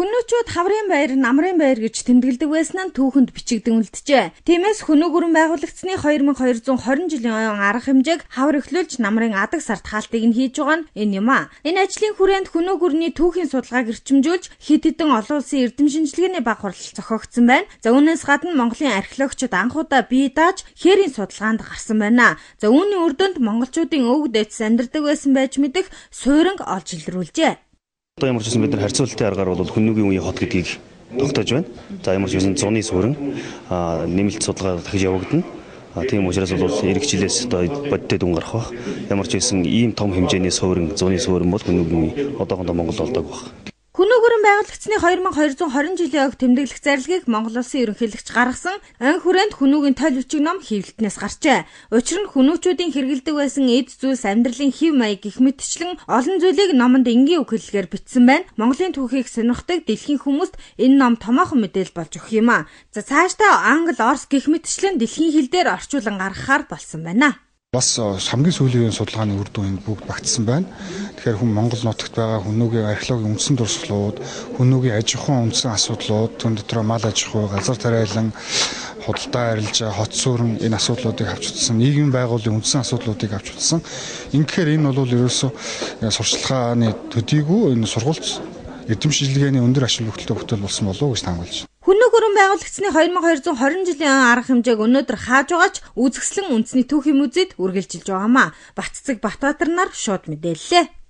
Хүнүүчүүд хаврын баяр, намрын баяр гэж тэмдэглэдэг байсан нь түүхэнд бичигдэн үлджээ. Тиймээс Хүнүү гүрэн байгуулагдсны 2220 жилийн арга хэмжээг хавар эхлүүлж намрын адаг сард хаалтыг нь хийж байгаа нь энэ юм а. Энэ ажлын хүрээнд Хүнүү гүрний түүхийн судалгааг эрчимжүүлж хэд хэдэн олон улсын эрдэм шинжилгээний баг хурал зохиогдсон байна. За үүнээс гадна Монголын археологчид анхудаа бие дааж хээрийн судалгаанд гарсан байна. За үүний үр дүнд монголчуудын өвөг дээдс амьдардаг байсан байж мэдэх сууринг олж илрүүлжээ. Одоо ямар ч юм бид нар харьцуулалтын аргаар бол Хүнүүгийн үеийн хот гэдгийг тогтоож байна. За ямар ч юм зуны суурин нэмэлт судалгаа дахиж явагдана. Тийм учраас бол эх жилээс одоо бодтой дүн гарах бах. Ямар ч байсан ийм том хэмжээний суурин, зуны суурин бол Хүнүүгийн одоохондоо Монгол болдог бах. Хүнүү гүрэн байгуулагдсны 2220 жилийн ог тэмдэглэх зарлигийг Монгол Улсын ерөнхийлөгч гаргасан ан хүрээнд Хүнүүгийн тойл бичиг ном хэвлэлтнээс гарчээ. Учир нь Хүнүүчүүдийн хэрэгэлдэг байсан эд зүйлс амьдралын хэв маяг гэх мэтчлэн олон зүйлийг номонд энгийн үг хэллэгээр бичсэн байна. Монголын түүхийг сонирхдаг дэлхийн хүмүүст энэ ном томоохон мэдээлэл болж өгөх юм а. За цаашдаа англи, орос гэх мэтчлэн дэлхийн хэл дээр орчуулан гаргахаар болсон байна. Бас хамгийн сүүлийн судалгааны үр дүн бүгд багтсан байна. Тэгэхээр хүн Монгол нутагт байгаа Хүнүүгийн археологийн үндсэн дурсгалууд, Хүнүүгийн аж ахуйн үндсэн асуудлууд, түн дотроо мал аж ахуй, газар тариалан, худалдаа арилжаа, хот сүрэн энэ асуудлуудыг авч утсан, нийгмийн байгууллагын үндсэн асуудлуудыг авч утсан. Ингэхээр энэ бол ерөөсөө сурчлагын төдийгүй энэ сургууль эрдэм шинжилгээний өндөр ашиг бүтээлтэй бүтээл болсон болов уу гэж таамаглаж байна. Хүнүү гүрэн байгуулагдсны 2220 жилийн арга хэмжээг өнөөдөр хааж байгаач үзэсгэлэн үндэсний түүхийн музейд үргэлжилж байгаамаа. Батцэг Батбаатар нар шууд мэдээллээ.